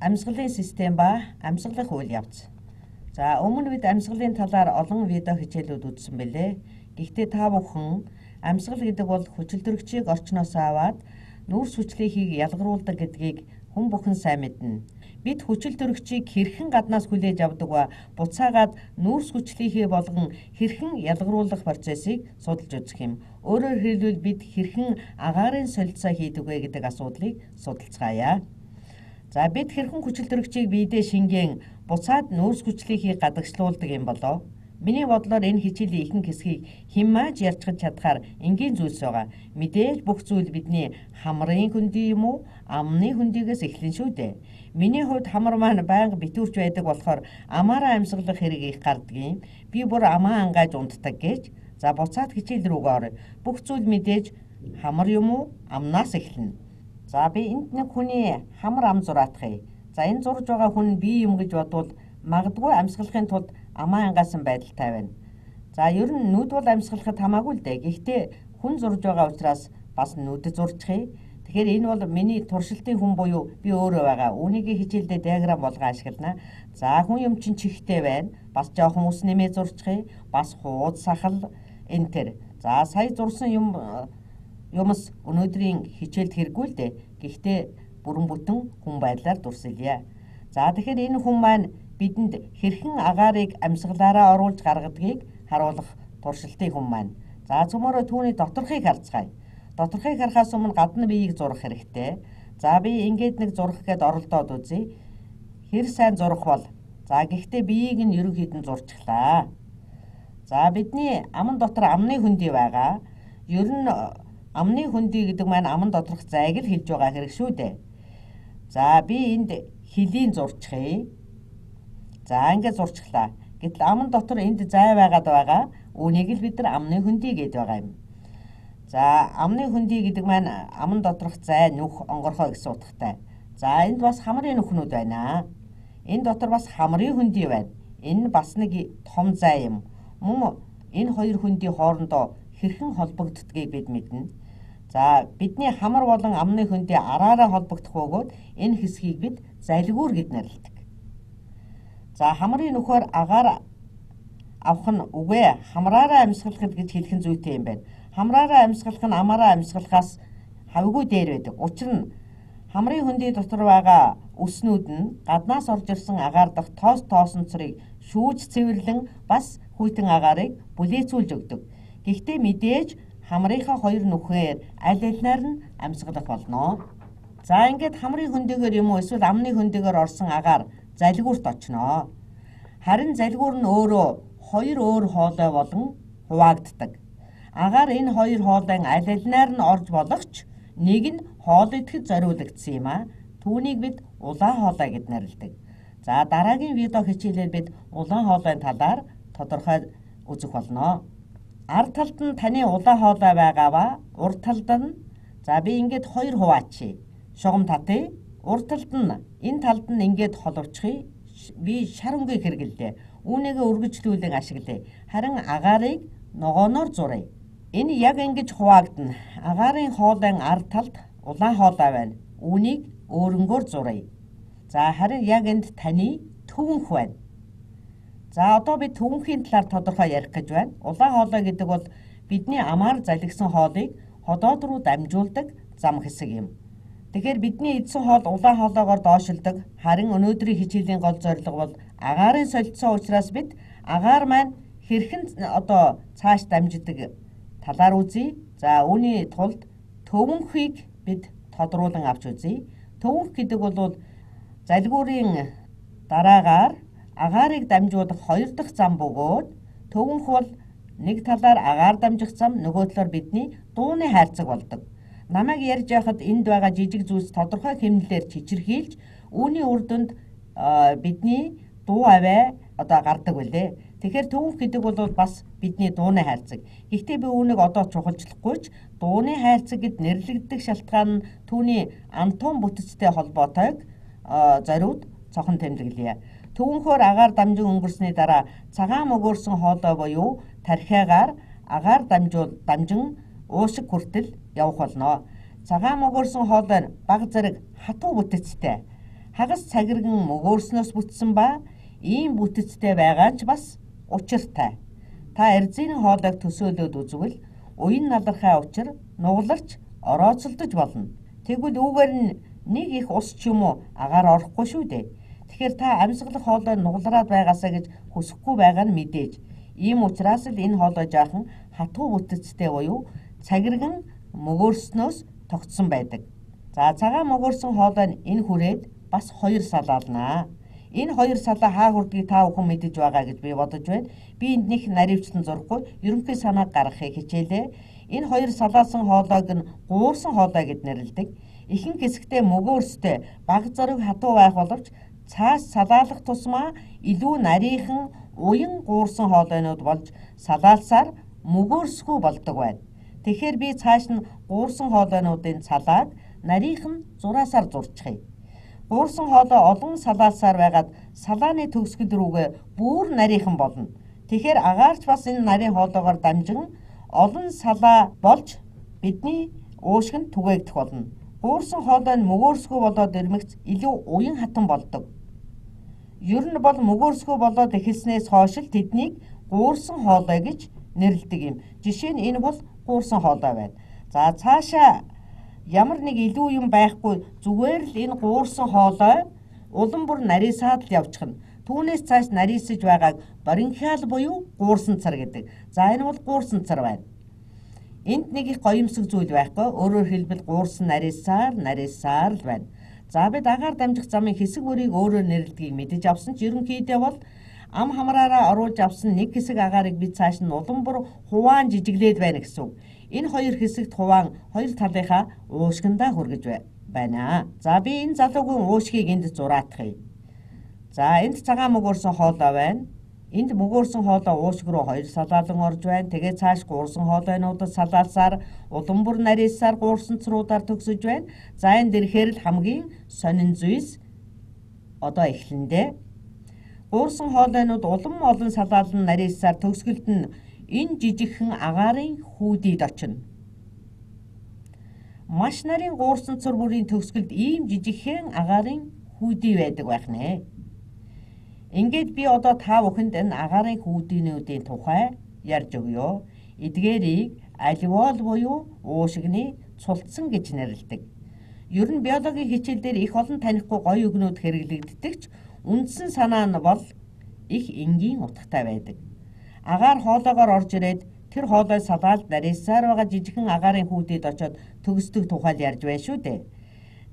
Амьсгалын систем ба амьсгалах үйл явц. За өмнө бид амьсгалын талаар олон видео хичээлүүд үзсэн бэлээ. Гэхдээ та бүхэн амьсгал гэдэг бол хүчилтөрөгчийг орчноос аваад нүүрс хүчлийнхийг ялгаруулдаг гэдгийг хүн бүхэн сайн мэднэ. Бид хүчилтөрөгчийг хэрхэн гаднаас хүлээж авдаг ба буцаагаад нүүрс хүчлийнхээ болгон хэрхэн ялгаруулах процессыг судалж үзэх юм. Өөрөөр хэлбэл бид хэрхэн агаарын солилцоо хийдэг вэ гэдэг асуудлыг судалцгаая. За бид хэрхэн хүчилтөрөгчийг биедээ шингэн буцаад нүүрс хүчлийнхийг гадагшлуулдаг юм болоо. Миний бодлоор энэ хичээлийн ихэнх хэсгийг хямааж ярьцгаж чадхаар энгийн зүйлс байгаа. Мэдээж бүх зүйл бидний хамрын хөндий юм уу, амны хөндийгээс эхлэн шүү дээ. Миний хувьд хамар маань байнга битүүрч байдаг болохоор амаараа амьсгалах хэрэг их гардаг юм. Би бүр амаа ангааж унтдаг гэж. За буцаад хичээл рүүгээ орё. Бүх зүйл мэдээж хамар юм уу, амнаас эхэлнэ. За би энд нэг хүний хамар ам зураатгая. За энэ зурж байгаа хүн би юм гэж бодвол магадгүй амьсгалахын тулд амаа ангасан байдалтай байна. За ер нь нүд бол амьсгалахад хамаагүй л дээ. Гэхдээ хүн зурж байгаа учраас бас нүдэд зурчихъя. Тэгэхээр энэ бол миний туршилтын хүн буюу би өөрөө байгаа. Үүнийг хичээлдээ диаграм болгон ашиглана. За хүн юм чинь чихтэй байна. Бас жоохон ус нэмээ зурчихъя. Бас хууд сахал энэ төр. За сая зурсан юмс өнөөдрийн хичээлд хэрэггүй л дээ. Гэхдээ бүрэн бүтэн хүн байдлаар дурсалъя. За тэгэхээр энэ хүн маань бидэнд хэрхэн агаарыг амьсгалаараа оруулж гаргадгийг харуулах туршилтын хүн маань. За цөмөрөө түүний доторхыг харцгаая. Доторхыг харахаас өмнө гадна биеийг зурах хэрэгтэй. За би ингээд нэг зурах гээд оролдоод үзье. Хэр сайн зурах бол. За гэхдээ биеийг нь ерөнхийдөө зурчихлаа. За бидний аман дотор амны хөндий байгаа. Ер нь амны хөндий гэдэг маань аман доторх зайг л хэлж байгаа хэрэг шүү дээ. За би энд хилийн зурчихъя. За ингээд зурчихлаа. Гэтэл аман дотор энд зай байгаад байгаа. Үүнийг л бид нар амны хөндий гэдэг байгаа юм. За амны хөндий гэдэг маань аман доторх зай нүх онгорхой гэсэн утгатай. За энд бас хамрын нүхнүүд байна. Энэ дотор бас хамрын хөндий байна. Энэ бас нэг том зай юм. Мөн энэ хоёр хөндий хоорондоо хэрхэн холбогддгийг бид мэднэ. За бидний хамар болон амны хөндий араараа холбогдох бөгөөд энэ хэсгийг бид залгуур гэж нэрлэдэг. За хамрын нөхөр агаар авах нь үгүй хамраараа амьсгалах гэж хэлэх нь зүйтэй юм байна. Хамраараа амьсгалах нь амаараа амьсгалахаас хавьгүй дээр байдаг. Учир нь хамрын хөндий дотор байгаа өснүүд нь гаднаас орж ирсэн агаар дахь тоосонцрыг шүүж цэвэрлэн бас хүйтэн агаарыг бүлээцүүлж өгдөг. Гэхдээ мэдээж хамрынхаа хоёр нүхээр аль алинаар нь амьсгалах болно. За ингээд хамрын хөндийгээр юм уу эсвэл амны хөндийгээр орсон агаар залгуурт очноо. Харин залгуур нь өөрөө хоёр өөр хоолой болон хуваагддаг. Агаар энэ хоёр хоолойн аль алинаар нь орж болохч нэг нь хоол идэхэд зориулагдсан юм а. Түүнийг бид улаан хоолой гэж нэрлэдэг. За дараагийн видео хичээлээр бид улаан хоолойн талаар тодорхой үзэх болно. Ард талд нь таны улаан хоолой байгаа ба урд талд нь за би ингээд хоёр хуваачи. Шугам татъя. Урд талд нь энэ талд нь ингээд холовчихъя. Би шар өнгийг хэрэглэлээ. Үүнийгээ үргэлжлүүлэн ашиглая. Харин агаарыг ногооноор зуръя. Энэ яг ингэж хуваагдана. Агаарын хоолойн ард талд улаан хоолой байна. Үүнийг өөрөнгөөр зуръя. За харин яг энд таны төвөнх байна. За одоо би төвөнхийн талаар тодорхой ярих гэж байна. Улаан хоолой гэдэг бол бидний амаар залгисан хоолыг ходоод руу дамжуулдаг зам хэсэг юм. Тэгэхээр бидний эдсэн хоол улаан хоолойгоор доошилдог. Харин өнөөдрийн хичээлийн гол зорилго бол агаарын солилцоо учраас бид агаар маань хэрхэн одоо цааш дамждаг талаар үзье. За үүний тулд төвөнхийг бид тодруулан авч үзье. Төвөнх гэдэг бол залгуурын дараагаар агаарыг дамжуулах хоёр дахь зам бөгөөд төвөнх бол нэг талаар агаар дамжих зам, нөгөө талаар бидний дууны хайрцаг болдог. Намайг ярьж байхад энд байгаа жижиг зүйлс тодорхой хэмнэлээр чичирхийлж үүний үр дүнд бидний дуу аваа одоо гардаг байлээ. Тэгэхээр төвөнх гэдэг бол бас бидний дууны хайрцаг. Гэхдээ би үүнийг одоо чухалчлахгүй ч дууны хайрцаг гэд нэрлэгдэх шалтгаан нь түүний антон бүтэцтэй холбоотойг зориуд цохон тэмдэглэе. Төвөнхөөр агаар дамжин өнгөрсний дараа цагаан мөгөөрсөн хоолой буюу тархиагаар агаар дамжин уушиг хүртэл явах болно. Цагаан мөгөөрсөн хоолой нь баг зэрэг хатуу бүтэцтэй. хагас цагирган мөгөөрснөөс бүтсэн ба ийм бүтэцтэй байгаа ч бас учиртай. Та эрзийн хоолойг төсөөлөд үзвэл уян налархай учир нугаларч орооцолдож болно. Тэгвэл үүгээр нь нэг их ус ч юм уу агаар орохгүй шүү дээ. Тэгэхээр та амьсгалах хоолой нугалраад байгаасаа гэж хүсэхгүй байгаа нь мэдээж. Ийм учраас л энэ хоолой жаахан хатуу бүтэцтэй буюу цагирган мөгөөрснөөс тогтсон байдаг. За цагаан мөгөөрсөн хоолой нь энэ хүрээд бас 2 салаалнаа. Энэ 2 салаа хаа хүрдгийг та бүхэн мэдэж байгаа гэж би бодож байна. Би энд нэг наривчлан зурхгүй ерөнхий санааг гаргахыг хичээлээ. Энэ 2 салаалсан хоолойг нь гуурсан хоолой гэд нэрлэдэг. Ихэнх хэсэгтээ мөгөөрстэй баг зориг хатуу байх боловч цааш салаалах тусмаа илүү нарийнхан уян гуурсан хоолойнууд болж салаалсаар мөгөөрсгүй болдог байна. Тэгэхээр би цааш нь гуурсан хоолойнуудын салааг нарийнхан зураасаар зурчихъя. Гуурсан хоолой олон салаалсаар байгаад салааны төгсгөл рүүгээ бүр нарийнхан болно. Тэгэхээр агаарч бас энэ нарийн хоолойгоор дамжин олон салаа болж бидний уушгинд түгээгдэх болно. Гуурсан хоолой нь мөгөөрсгүй болоод ирмэгц илүү уян хатан болдог. Ер нь бол мөгөөрсгүй болоод эхэлснээс хойш л тэднийг гуурсан хоолой гэж нэрлэдэг юм. Жишээ нь энэ бол гуурсан хоолой байна. За цаашаа ямар нэг илүү юм байхгүй зүгээр л энэ гуурсан хоолой улам бүр нарийсаад л явчихна. Түүнээс цааш нарийсаж байгааг баринхиал буюу гуурсан цар гэдэг. За энэ бол гуурсан цар байна. Энд нэг их гоёмсог зүйл байхгүй. Өөрөөр хэлбэл гуурсан нарийсаар л байна. За бид агаар дамжих замын хэсэг бүрийг өөрөөр нэрлэдгийг мэдэж авсан ч ерөнхийдөө бол ам хамраараа оруулж авсан нэг хэсэг агаарыг бид цааш нь улам бүр хуваан жижиглээд байна гэсэн үг. Энэ 2 хэсэгт хуваан 2 талынхаа уушгиндаа хүргэж байна. За би энэ залуугийн уушгийг энд зураатгая. За энд цагаан мөгөөрсөн хоолой байна. Энд мөгөөрсөн хоолой уушиг руу 2 салаалан орж байна. Тэгээд цааш гуурсан хоолойнуудад салаалсаар улам бүр нарийсаар гуурсан цруудаар төгсөж байна. За энд ирэхээр л хамгийн сонин зүйлс одоо эхлэндээ. Гуурсан хоолойнууд улам олон салаалан нарийсаар төгсгөлд нь энэ жижигхэн агаарын хүүдийд очино. Маш нарийн гуурсан цор бүрийн төгсгөлд ийм жижигхэн агаарын хүүдий байдаг байх нэ. Ингээд би одоо та бүхэнд энэ агаарын хүүдийнүүдийн тухай ярьж өгье. Эдгээрийг аливол буюу уушигны цултсан гэж нэрлэдэг. Ер нь биологийн хичээлдэр их олон танихгүй гоё үгнүүд хэрэглэгддэг ч үндсэн санаа нь бол их энгийн утгатай байдаг. Агаар хоолойгоор орж ирээд тэр хоолой салаалд нарийсаар байгаа жижигхэн агаарын хүүдийд очиод төгсдөг тухай ярьж байна шүү дээ.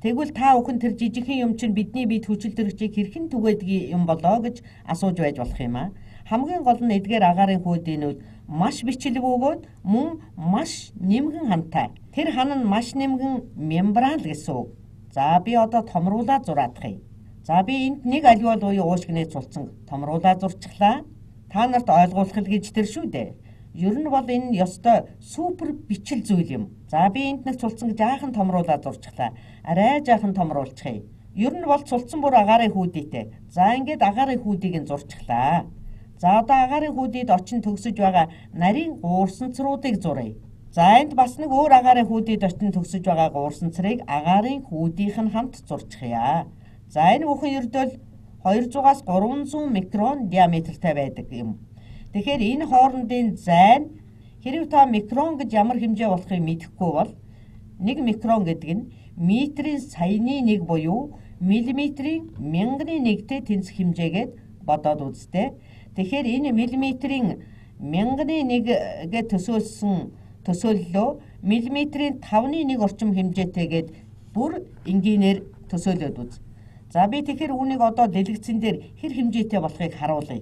Тэгвэл та бүхэн тэр жижигхэн юм чинь бидний биед хүчил төрөгчийг хэрхэн түгээдгийг юм болоо гэж асууж байж болох юм аа. Хамгийн гол нь эдгээр агаарын хүүдийнүүд маш бичлэг өгөөд мөн маш нэмгэн хантай. Тэр хан нь маш нэмгэн мембран л гэсэн үг. За би одоо томруулаад зураадахъя. За би энд нэг аливол буюу уушгины цулцсан томруулаад зурчихлаа. Та нарт ойлгуулах л гэж тэр шүү дээ. Ер нь бол энэ ёстой супер бичил зүйл юм. За би энд нэг цулцсан жаахан томруулаад зурчихлаа. Арай жаахан томруулчихъя. Ер нь бол цулцсан бүр агаарын хүүдийтэй. За ингээд агаарын хүүдийг нь зурчихлаа. За одоо агаарын хүүдийд очин төгсөж байгаа нарийн гуурсан цруудыг зуръя. За энд бас нэг өөр агаарын хүүдийд очин төгсөж байгаа гуурсан црыг агаарын хүүдийнх нь хамт зурчихъя. За энэ бүхэн ердөө 200-аас 300 микрон диаметртай байдаг юм. Тэгэхээр энэ хоорондын зай нь хэрэв та микрон гэж ямар хэмжээ болохыг мэдэхгүй бол 1 микрон гэдэг нь метрийн саяны 1 буюу миллиметрийн мянганы 1-тэй тэнцэх хэмжээгээд бодоод үзтээ. Тэгэхээр энэ миллиметрийн мянганы 1-гээ төсөөллөө миллиметрийн 5-1 орчим хэмжээтэйгээд бүр энгийнээр төсөөлөд үз. За би тэгэхээр үүнийг одоо дэлгэцэн дээр хэр хэмжээтэй болохыг харуулъя.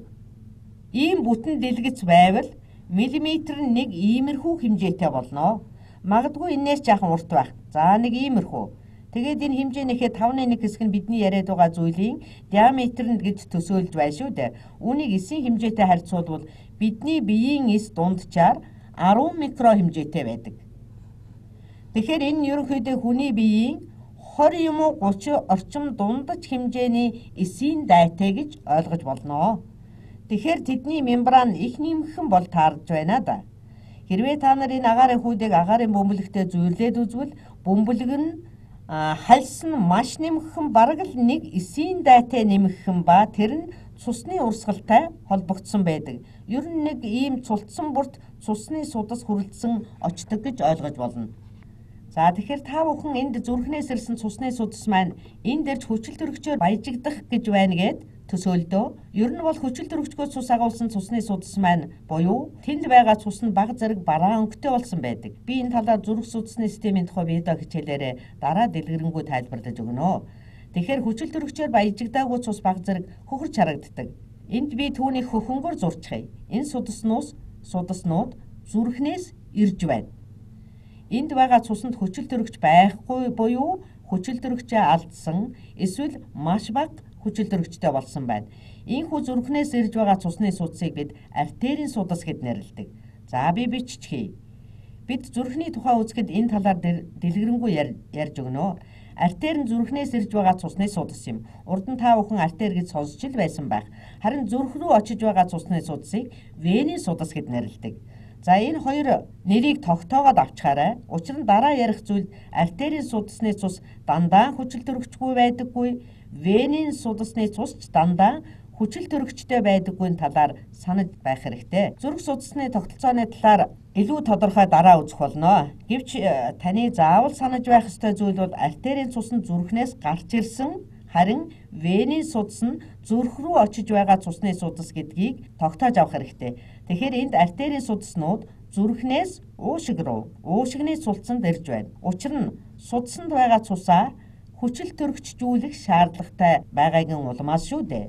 Ийм бүтэн дэлгэц байвал миллиметр нь нэг иймэрхүү хэмжээтэй болно. Магадгүй энээс жаахан урт байх. За нэг иймэрхүү. Тэгээд энэ хэмжээнийхээ 5-1 хэсэг нь бидний яриад байгаа зүйлийн диаметр нь гэж төсөөлж байна шүү дээ. Үүнийг эсийн хэмжээтэй харьцуулбал бидний биеийн эс дунджаар 10 микро хэмжээтэй байдаг. Тэгэхээр энэ ерөнхийдөө хүний биеийн 20 юм уу 30 орчим дундаж хэмжээний эсийн дайтай гэж ойлгож болно. Тэгэхээр тэдний мембран их нэмхэн бол таарж байна да. Хэрвээ та нар энэ агаарын хүүдийг агаарын бөмбөлөгтөө зүйрлээд үзвэл бөмбөлөг нь хальс нь маш нэмэгхэн бараг л 1/9 дайтай нэмэгхэн ба тэр нь цусны урсгалтай холбогдсон байдаг. Ер нь нэг ийм цултсан бүрт цусны судас хүрэлцэн очдог гэж ойлгож болно. За тэгэхээр та бүхэн энд зүрхнээс ирсэн цусны судас маань энд ирж хүчил төрөгчөөр баяжигдах гэж байна гэд төсөөлдөө. Ер нь бол хүчил төрөгчгөөс цус агуулсан цусны судас маань буюу тэнд байгаа цус нь бага зэрэг бараа өнгөтэй болсон байдаг. Би энэ талаар зүрх судасны системийн тухай видео хичээлээрээ дараа дэлгэрэнгүй тайлбарлаж өгнө. Тэгэхээр хүчил төрөгчөөр баяжигдаагүй цус бага зэрэг хөхөрч харагддаг. Энд би түүнийг хөхөнгөөр зурчихъя. Энэ судаснууд зүрхнээс ирж байна. Энд байгаа цуснд хүчил төрөгч байхгүй буюу хүчил төрөгчөө алдсан эсвэл маш бага хүчил төрөгчтэй болсон байна. Ийхүү зүрхнээс ирж байгаа цусны судасыг бид артерийн судас гэд нэрлэдэг. За би биччихье. Бид зүрхний тухай үзэхэд энэ талаар дэлгэрэнгүй ярьж өгнө. Артер нь зүрхнээс ирж байгаа цусны судас юм. Урд нь та бүхэн артер гэж сонсч л байсан байх. Харин зүрх рүү очиж байгаа цусны судасыг венийн судас гэд нэрлэдэг. За энэ хоёр нэрийг тогтоогоод авчхаарай. Учир нь дараа ярих зүйл артерийн судасны цус дандаа хүчил төрөгчгүй байдаггүй, венийн судасны цус ч дандаа хүчил төрөгчтэй байдаггүй талаар санаж байх хэрэгтэй. Зүрх судасны тогтолцооны талаар илүү тодорхой дараа үзэх болно. Гэвч таны заавал санаж байх ёстой зүйл бол артерийн цус нь зүрхнээс гарч ирсэн, харин венийн судас нь зүрх рүү очиж байгаа цусны судас гэдгийг тогтоож авах хэрэгтэй. Тэгэхээр энд артерийн судаснууд зүрхнээс уушиг руу, уушигны цулцанд ирж байна. Учир нь судасанд байгаа цусаа хүчил төрөгчжүүлэх шаардлагатай байгаагийн улмаас шүү дээ.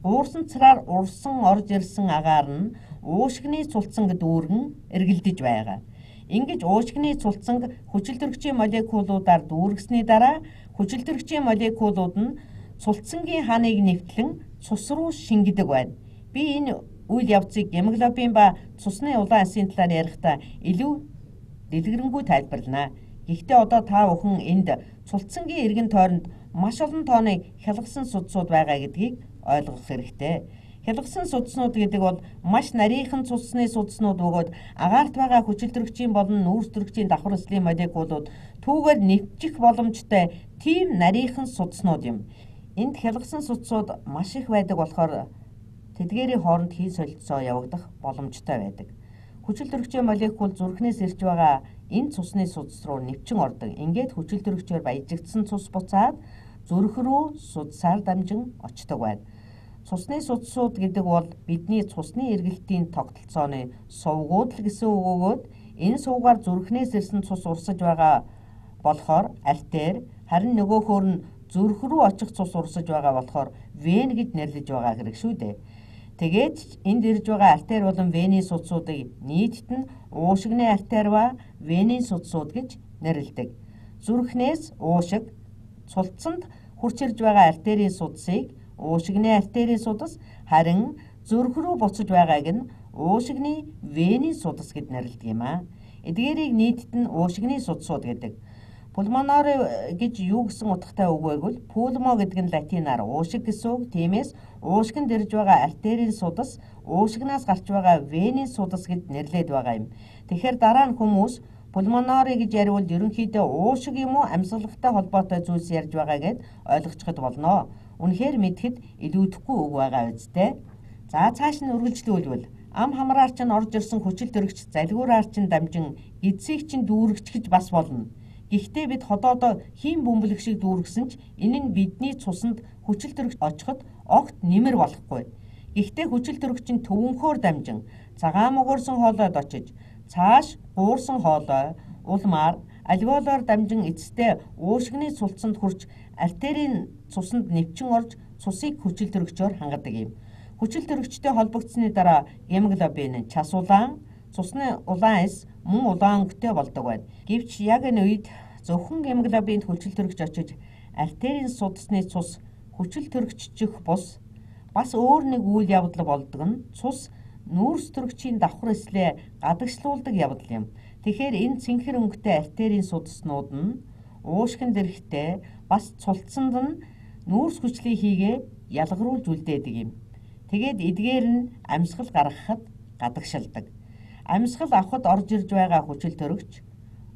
Уурсан цараар урсан орж ирсэн агаар нь уушигны цулцанг дүүргэн эргэлдэж байгаа. Ингэж уушигны цулцанг хүчил төрөгчийн молекулуудаар дүүргэсний дараа хүчил төрөгчийн молекулууд нь цулцангийн ханыг нэвтлэн цус руу шингэдэг байна. Би энэ үйл явцыг гемоглобин ба цусны улаан эсийн талаар ярихдаа илүү дэлгэрэнгүй тайлбарлана. Гэхдээ одоо та бүхэн энд цулцангийн эргэн тойронд маш олон тооны хялгасан судсууд байгаа гэдгийг ойлгох хэрэгтэй. Хялгасан судснууд гэдэг бол маш нарийнхан цусны судснууд бөгөөд агаарт байгаа хүчил төрөгчийн болон нүүрс төрөгчийн давхар эслийн молекулууд түүгээр нэвчих боломжтой тийм нарийнхан судснууд юм. Энд хялгасан судсууд маш их байдаг болохоор тэдгээрийн хооронд хий солилцоо явагдах боломжтой байдаг. Хүчил төрөгчийн молекул зүрхнээс ирж байгаа энэ цусны судас руу нэвчин ордог. Ингээд хүчил төрөгчөөр баяжигдсан цус буцаад зүрх рүү судасаар дамжин очдог байна. Цусны судсууд гэдэг бол бидний цусны эргэлтийн тогтолцооны сувгууд л гэсэн үг өгөөд энэ сувгаар зүрхнээс ирсэн цус урсаж байгаа болохоор артер, харин нөгөөхөр нь зүрх рүү очих цус урсаж байгаа болохоор вен гэж нэрлэж байгаа хэрэг шүү дээ. Тэгээд энд ирж байгаа артер болон венийн судсуудыг нийтд нь уушигны артер ба венийн судсууд гэж нэрлэдэг. Зүрхнээс уушиг, цулцанд хурц ирж байгаа артерийн судсыг уушигны артерийн судас, харин зүрх рүү буцаж байгааг нь уушигны венийн судас гэд нэрлэдэг юм аа. Эдгээрийг нийтд нь уушигны судсууд гэдэг. Пулмонори гэж юу гэсэн утгатай үг байвал пулмо гэдэг нь латинаар уушиг гэсэн үг. Тиймээс уушигнд ирж байгаа артерийн судас уушигнаас гарч байгаа венийн судас гэд нэрлээд байгаа юм. Тэгэхээр дараа нь хүмүүс пулмонори гэж яриул ерөнхийдөө уушиг юм уу амьсгалагтай холбоотой зүйлс ярьж байгаа гэд ойлгочиход болно. Үнэхээр мэдхэд илүүдэхгүй үг байгаа үстэй. За цааш нь үргэлжлүүлвэл ам хамраар чинь орж ирсэн хүчил төрөгч залгуураар чинь дамжин эцсийг чинь дүүргэж бас болно. Гэхдээ бид ходоодоо хийм бөмбөлөг шиг дүүргэсэн ч энэ нь бидний цуснд хүчил төрөгч очиход огт нэмэр болохгүй. Гэхдээ хүчил төрөгч нь төвөнхөөр дамжин цагаан мөгөөрсөн хоолойд очиж цааш гуурсан хоолой улмаар альвеолоор дамжин эцэстээ уушигны цулцанд хүрч артерийн цуснд нэвчин орж цусыг хүчил төрөгчөөр хангадаг юм. Хүчил төрөгчтэй холбогдсны дараа гемоглобин час улаан, цусны улаан эс мөн улаан өнгөтэй болдог байна. Гэвч яг энэ үед зөвхөн гемоглобинд хүчил төрөгч очиж артерийн судасны цус хүчил төрөгччих бус бас өөр нэг үйл явдал болдог нь цус нүүрс төрөгчийн давхар эслээ гадагшлуулдаг явдал юм. Тэгэхээр энэ цэнхэр өнгөтэй артерийн судаснууд нь уушгинд ирэхдээ бас цулцсанд нь нүүрс хүчлийг хийгээ ялгаруулж үлдээдэг юм. Тэгээд эдгээр нь амьсгал гаргахад гадагшилдаг. Амьсгал авахд орж ирж байгаа хүчил төрөгч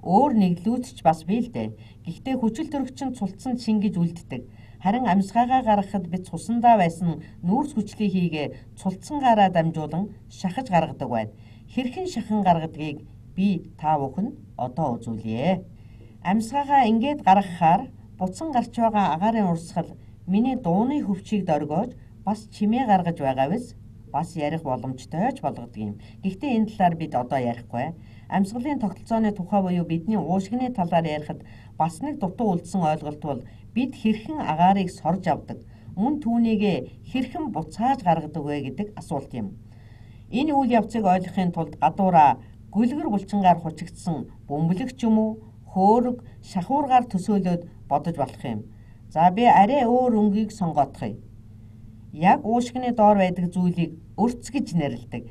өөр нэглүүдч бас бий л дээ. Гэхдээ хүчил төрөгч нь цулцсан шингэж үлддэг. Харин амьсгаагаа гаргахад бид цусандаа байсан нүүрс хүчлийг хийгээ цулцсангаараа дамжуулан шахаж гаргадаг байна. Хэрхэн шахан гаргадгийг би та бүхэнд одоо үзүүлье. Амьсгаагаа ингээд гаргахаар буцан гарч байгаа агаарын урсгал миний дууны хөвчийг дөргөөж бас чимээ гаргаж байгаа биз? Бас ярих боломжтой ч болгодог юм. Гэхдээ энэ талаар бид одоо ярихгүй. Амьсгалын тогтолцооны тухай буюу бидний уушгины талаар ярихад бас нэг дутуу үлдсэн ойлголт бол бид хэрхэн агаарыг сорж авдаг, мөн түүнийгээ хэрхэн буцааж гаргадаг вэ гэдэг асуулт юм. Энэ үйл явцыг ойлгохын тулд гадуураа гүлгэр булчингаар хучигдсан бөмбөлөгч юм уу, хөөрөг, шахуургаар төсөөлөд бодож болох юм. За би арай өөр өнгийг сонгоодохъя. Яг уушгины доор байдаг зүйлийг өрц гэж нэрлэдэг.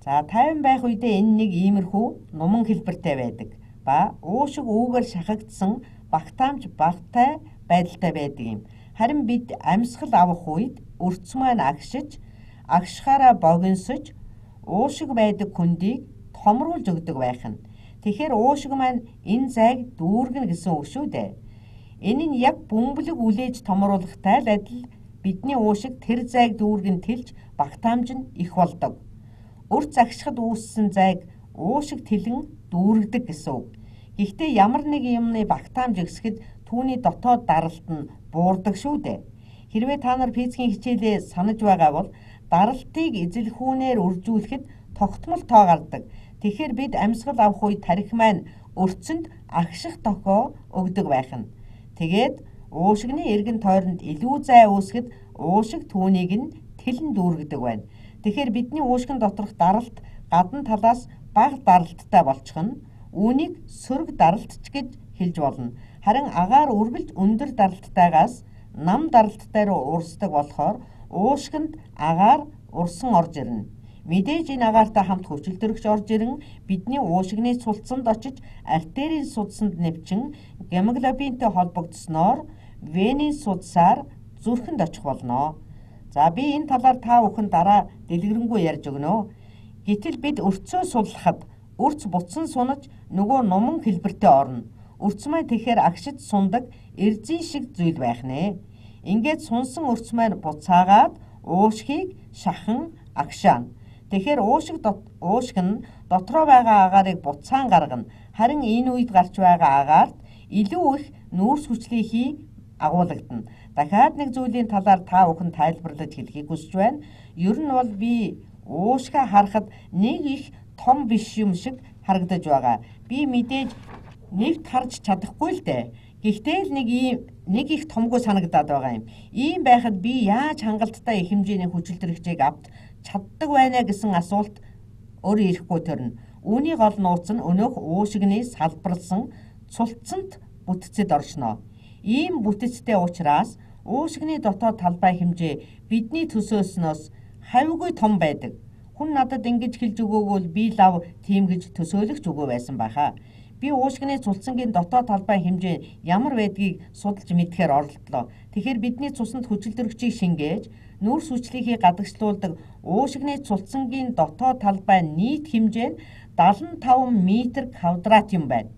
За тайван байх үедээ энэ нэг иймэрхүү нуман хэлбэртэй байдаг. Ба уушиг үүгээр шахагдсан багтаамж багтай байдалтай байдаг юм. Харин бид амьсгал авах үед өрц маань агшиж, агшихаараа богиносож, уушиг байдаг хүндийг томруулж өгдөг байх нь. Тэгэхээр уушиг маань энэ зайг дүүргэнэ гэсэн үг шүү дээ. Энэ нь яг бөмбөлөг үлээж томруулахтай л адил бидний уушиг тэр зайг дүүргэн тэлж багтаамж нь их болдог. Өрц агшихад үүссэн зайг уушиг тэлэн дүүргдэг гэсэн үг. Гэхдээ ямар нэг юмны багтаамж ихсэхэд түүний дотоод даралт нь буурдаг шүү дээ. Хэрвээ та нар физикийн хичээлээ санаж байгаа бол даралтыг эзэлхүүнээр үржүүлэхэд тогтмол тоо гардаг. Тэгэхээр бид амьсгал авах үед тархи маань өрцөнд агших тохио өгдөг байх нь. Тэгээд уушигны эргэн тойронд илүү зай үүсгэд уушиг түүнийг нь тэлэн дүүргэдэг байна. Тэгэхээр бидний уушгин доторх даралт гадна талаас бага даралттай болчих нь үүнийг сөрөг даралтч гэж хэлж болно. Харин агаар үргэлж өндөр даралттайгаас нам даралттай руу урсдаг болохоор уушгинд агаар урсан орж ирнэ. Мэдээж энэ агаартай хамт хүчил төрөгч орж ирэн бидний уушигны цулцсанд очиж артерийн судсанд нэвчин гемоглобинтэй холбогдсноор венийн судсаар зүрхэнд очих болно. За би энэ талаар та бүхэн дараа дэлгэрэнгүй ярьж өгнө. Гэтэл бид өрцөө суллахад өрц буцсан сунаж нөгөө нуман хэлбэртээ орно. Өрц маань тэгэхээр агшиж сундаг эрзэн шиг зүйл байх нэ. Ингээд сунсан өрц маань буцаагаад уушгийг шахан агшаана. Тэгэхээр уушиг нь дотроо байгаа агаарыг буцаан гаргана. Харин энэ үед гарч байгаа агаарт илүү их нүүрс хүчлийг агуулгадана. Дахиад нэг зүйлийн талаар та бүхэн тайлбарлаж хэлхийг хүсэж байна. Ер нь бол би уушгаа харахад нэг их том биш юм шиг харагдаж байгаа. Би мэдээж нэгт харж чадахгүй л дээ. Гэхдээ л нэг их томгүй санагдаад байгаа юм. Ийм байхад би яаж хангалттай их хэмжээний хүчил төрөгчийг авч чаддаг байна гэсэн асуулт өөрөө ирэхгүй төрнө. Үүний гол нууц нь өнөөх уушигны салбарлсан цулцсанд бүтцэд оршно. Ийм бүтцтэй учраас уушигны дотоод талбай хэмжээ бидний төсөөснөөс хавьгүй том байдаг. Хүн надад ингэж хэлж өгөөгөл би лав тийм гэж төсөөлөгч өгөө байсан байхаа. Би уушгины цулцсангийн дотоод талбай хэмжээ ямар байдгийг судалж мэдхээр оролдлоо. Тэгэхээр бидний цуснд хүчил төрөгчийг шингээж нүүрс хүчлийг гадагшлуулдаг уушгины цулцсангийн дотоод талбай нийт хэмжээ нь 75 м² юм байна.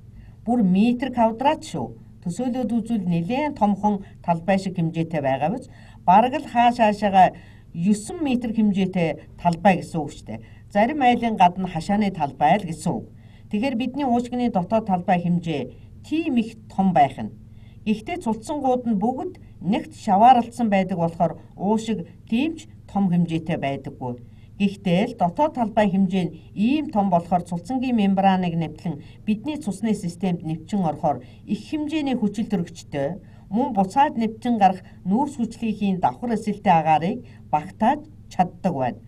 Бүр метр квадрат шүү. Төсөөлөд үзвэл нэлээд томхон талбай шиг хэмжээтэй байгаа биз? Бараг л хаашаашаага 9 м хэмжээтэй талбай гэсэн үг шүү дээ. Зарим айлын гадна хашааны талбай л гэсэн үг. Тэгэхээр бидний уушгины дотоод талбай хэмжээ тийм их том байх нь. Гэхдээ цулцсангууд нь бүгд нэгт шавааралцсан байдаг болохоор уушиг тиймч том хэмжээтэй байдаггүй. Гэхдээ л дотоод талбай хэмжээ нь ийм том болохоор цулцсангийн мембраныг нэвтлэн бидний цусны системд нэвчин орохоор их хэмжээний хүчил төрөгчтэй мөн буцаад нэвчин гарах нүүрс хүчлийн давхар эсэлтэй агаарыг багтааж чаддаг байна.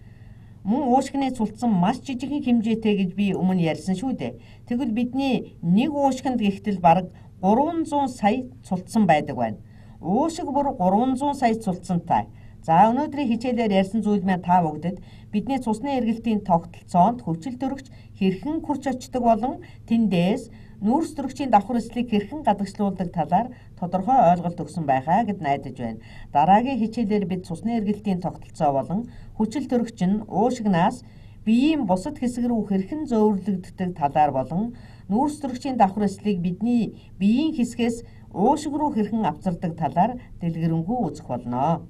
Мөн уушгины цулцсан маш жижигхэн хэмжээтэй гэж би өмнө ярьсан шүү дээ. Тэгвэл бидний нэг уушгинд гихтэл бараг 300 сая цулцсан байдаг байна. Уушиг бүр 300 сая цулцсантай. За өнөөдрийн хичээлээр ярьсан зүйл маань та бүгдэд бидний цусны эргэлтийн тогтолцоонд хүчил төрөгч хэрхэн хурц очдог болон тэндээс нүүрс төрөгчийн давхар эслийг хэрхэн гадагшлуулдаг талаар тодорхой ойлголт өгсөн байхаа гэд найдаж байна. Дараагийн хичээлээр бид цусны эргэлтийн тогтолцоо болон хүчил төрөгч нь уушигнаас биеийн бусад хэсэг рүү хэрхэн зөөвөрлөгддөг талаар болон нүүрсдөрөгчийн давхар эслийг бидний биеийн хэсгээс уушиг руу хэрхэн авчирдаг талаар дэлгэрэнгүй үзэх болно.